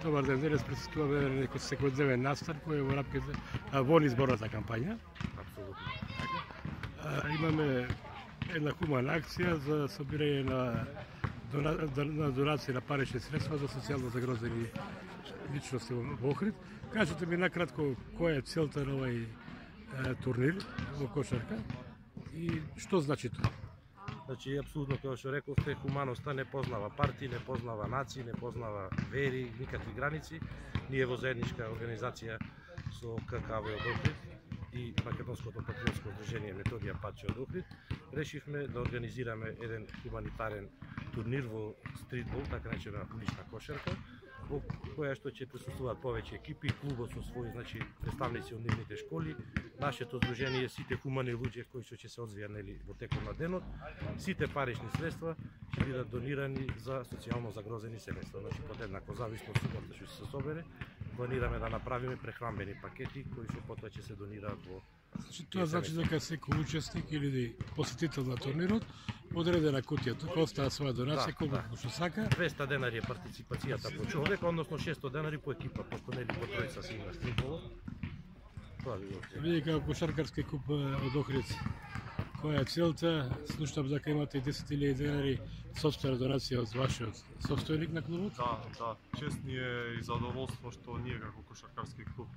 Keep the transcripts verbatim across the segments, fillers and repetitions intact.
Добар ден, денес присуствуваме на некој секојдневен настан кој е во рамките во изборната кампања. Апсолутно. Имаме една хумана акција за собирање на на донации на парични средства за социјално загрозени личности во Охрид. Кажете ми накратко која е целта на овој турнир во кошарка и што значи тоа? Значи, апсолутно, тоа што рековте, хуманоста не познава партии, не познава нации, не познава вери, никакви граници. Ние во заедничка организација со ККВ од Охрид и Македонското патриотско здружение Методија Паче од Охрид решивме да организираме еден хуманитарен турнир во стритбол, така наречена улична кошарка, во која што ќе присуствуваат повеќе екипи, клубот со своји, значи, представници од нивните школи, нашето здружение, сите хумани луѓе кои што ќе се одвија нели во текот на денот, сите парични средства ќе бидат донирани за социјално загрозени семејства. Значи, подеднакво зависно од сумата што се собере, планираме да направиме прехранбени пакети кои што потоа ќе се донираат во. Значи, тоа значи дека секој учесник или посетител на турнирот одредена кутија, тука остава своја донација, колку да, што сака. двеста денари е партиципацијата по човек, односно шесто денари по екипа, пошто нели по тројца се има стритбол. Тоа би го. Вие како кошаркарски клуб од Охрид, која е целта? Слушнав дека имате десет илјади денари сопствена донација од вашиот собственик на клубот? Да, да. Чест ни е и задоволство што ние како кошаркарски клуб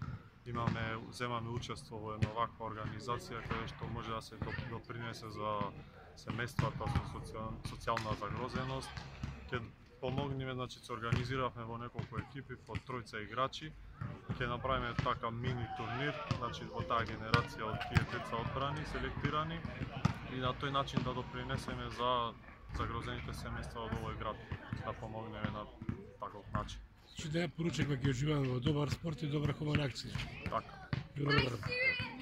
имаме, земаме учество во една ваква организација каде што може да се допринесе за семејствата со социјална загрозеност. Ќе помогнеме, значи се организиравме во неколку екипи по тројца играчи. Ќе направиме така мини турнир, значи во таа генерација од тие деца одбрани, селектирани и на тој начин да допринесеме за загрозените семејства од овој град, да помогнеме на таков начин. Значи да ја поручек ќе уживаме во добар спорт и добра хумана акција. Така. Добро.